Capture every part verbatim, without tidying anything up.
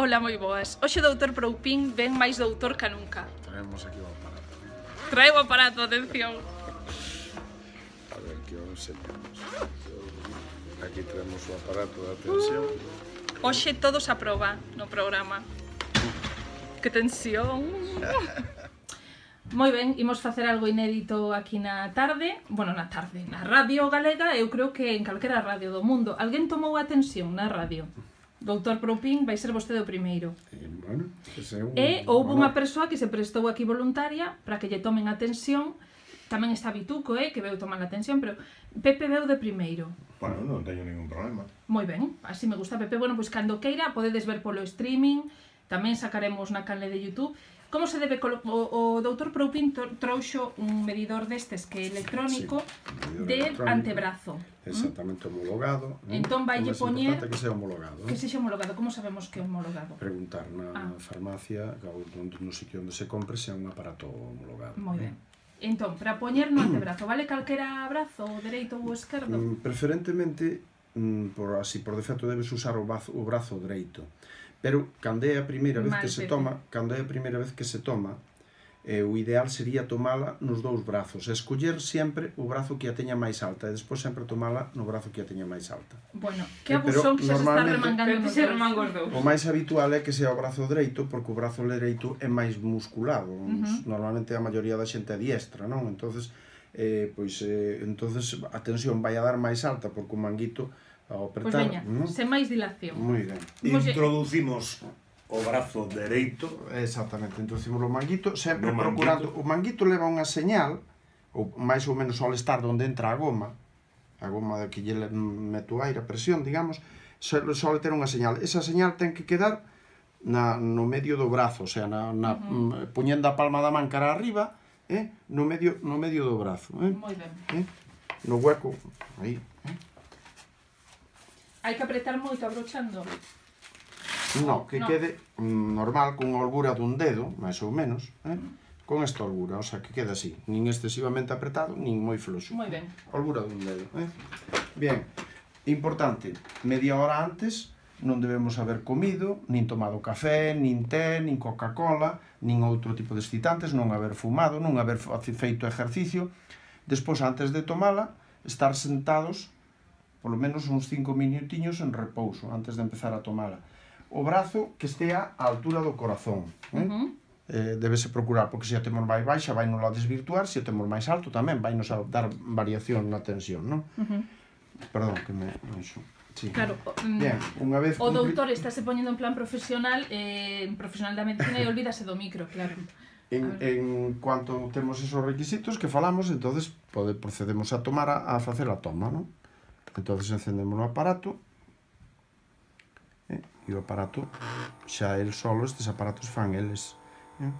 Ola, moi boas. Hoxe o doutor Proupín ven máis doutor ca nunca. Traemos aquí o aparato. Trae o aparato, atención. A ver, que o enseñamos. Aquí traemos o aparato de atención. Hoxe todos a proba no programa. Que tensión. Moi ben, imos facer algo inédito aquí na tarde. Bueno, na tarde, na radio galega. Eu creo que en calquera radio do mundo. Alguén tomou atención na radio? Doutor Proupín, vai ser vostede o primeiro. E, bueno, ese é un... E houve unha persoa que se prestou aquí voluntaria para que lle tomen atención. Tamén está Bituco, eh, que veu tomar atención, pero Pepe veu de primeiro. Bueno, non teño ningún problema. Moi ben, así me gusta Pepe. Bueno, pois cando queira podedes ver polo streaming, tamén sacaremos na canle de YouTube. Como se debe... Colo... O, o doutor Proupín trouxo un medidor destes que é electrónico, sí, de electrónico, antebrazo. Exactamente, homologado. Entón vaille poñer... É que sea homologado. Que sexa homologado. Como sabemos que é homologado? Preguntar na ah. farmacia, no sitio onde se compre, se é un aparato homologado. Moi ben. Entón, para poñer no antebrazo, vale calquera brazo, o dereito ou o esquerdo? Mm, preferentemente, mm, por así por defecto, debes usar o brazo, o brazo dereito. Pero, cando é a primeira vez Mal, que se Pepe. toma, cando é a primeira vez que se toma, eh, o ideal sería tomala nos dous brazos, e escoller sempre o brazo que a teña máis alta, e despois sempre tomala no brazo que a teña máis alta. Bueno, que Eh, abusón que xa se está normalmente- remangando nos dedos. O máis habitual é que sea o brazo dereito, porque o brazo dereito é máis musculado. Uh -huh. Normalmente a maioría da xente é diestra, non? Entonces, eh, pois, eh, entonces a tensión vai a dar máis alta, porque o manguito ao Pois apretar... veña, ¿no? sen máis dilación. Moi ben. Oxe. Introducimos o brazo dereito. Exactamente, introducimos o manguito, sempre No procurando... manguito. O manguito leva unha señal, ou máis ou menos ao estar onde entra a goma, a goma de que lle mete o aire, a presión, digamos, sole ter unha señal. Esa señal ten que quedar na, no medio do brazo, o sea, na, na, uh -huh. poñendo a palma da man cara arriba, eh, no, medio, no medio do brazo. Eh, Moi ben. eh, no hueco, aí. Eh. Hai que apretar moito abrochando. No, que no. quede mm, normal, con a holgura dun dedo, máis ou menos, eh? Con esta holgura, o sea, que quede así, nin excesivamente apretado, nin moi floxo. Moi ben. Holgura dun dedo, eh? Bien, importante, media hora antes non debemos haber comido, nin tomado café, nin té, nin Coca-Cola, nin outro tipo de excitantes, non haber fumado, non haber feito exercicio. Despois, antes de tomala, estar sentados polo menos uns cinco minutiños en repouso, antes de empezar a tomala. O brazo que estea á altura do corazón. Eh? Uh -huh. eh, debese procurar, porque se a temos máis baixa vai nos a desvirtuar, se a temos máis alto tamén vai nos a dar variación na tensión, non? Uh -huh. Perdón, que me... Eso. Sí. Claro, bien, unha vez o cumpli... doutor estáse poñendo en plan profesional, eh, profesional da medicina e olvídase do micro, claro. En, en cuanto temos esos requisitos que falamos, entonces pode, procedemos a tomar a, a facer a toma, non? Entonces encendemos o aparato eh, e o aparato xa el solo, estes aparatos fan eles eh.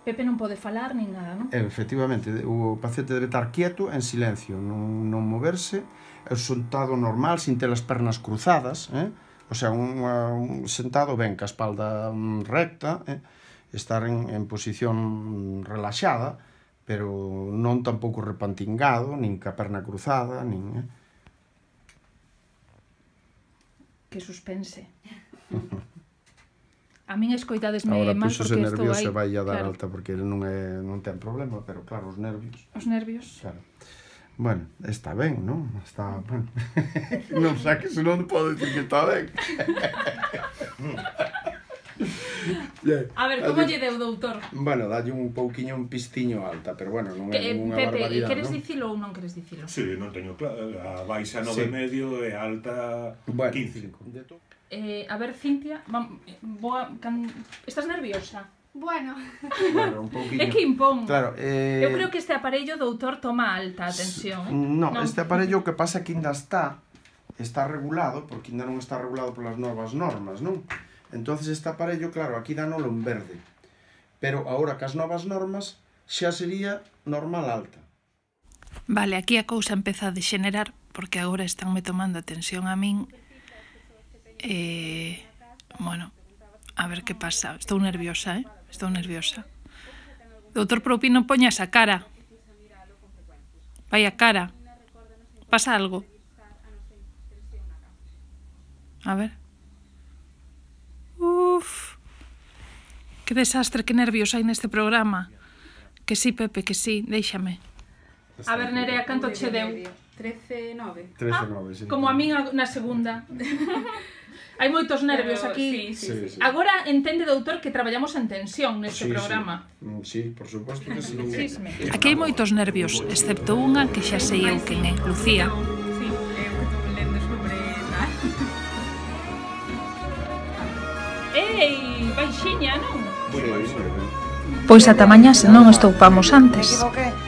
Pepe non pode falar nin nada, non? Eh, efectivamente, o paciente debe estar quieto, en silencio, non, non moverse, é sentado normal, sin ter as pernas cruzadas, eh? O sea, un, un sentado ben, ca espalda recta, eh? Estar en, en posición relaxada, pero non tampouco repantingado, nin ca perna cruzada, nin... Eh? Que suspense. A min escoitadesme Agora, mal pois, porque ese estou nervio aí. se vai a dar claro. alta porque ele non, é, non ten problema, pero claro, os nervios... Os nervios. Claro. Bueno, está ben, non? Está... Bueno. Non saque, senón podo dicir que está ben. A ver, como lle deu, doutor? Bueno, dalle un pouquiño un pistiño alta, pero bueno, non é Que, ninguna Pepe, barbaridade, queres non? dicilo ou non queres dicilo? Sí, non teño claro. A baixa nove e medio e a alta Bueno, quince. Eh, a ver, Cintia, vam, boa, can... estás nerviosa? Bueno, Bueno, un pouquiño. É que impón. Claro, eh... Eu creo que este aparello, doutor, toma alta atención, eh? No, no, este aparello o que pasa que ainda está está regulado, porque ainda non está regulado polas novas normas, non? Entonces este aparello, claro, aquí danolo en verde. Pero agora que as novas normas xa sería normal alta. Vale, aquí a cousa empeza a degenerar, porque agora estánme tomando atención a min. E, bueno, a ver que pasa. Estou nerviosa, eh? Estou nerviosa. Doutor Proupín, non poña esa cara. Vai a cara. Pasa algo. A ver. Que desastre, que nervios hai neste programa. Que sí, Pepe, que sí, déixame. A ver, Nerea, canto che deu? trece nove. trece nove, sí. Como a min na segunda. Hai moitos nervios Pero, aquí. sí, sí, Sí, sí. Agora entende, doutor, que traballamos en tensión neste Sí, programa. Sí, Mm, sí, por suposto que sí. Chisme. Aquí hai moitos nervios, excepto unha que xa sei eu quen é, Lucía. Sí, é o que estou lendo sobre tal. Ei, baixiña, non? Sí, sí. Pois ata mañá se non estoupamos antes. Me equivoqué.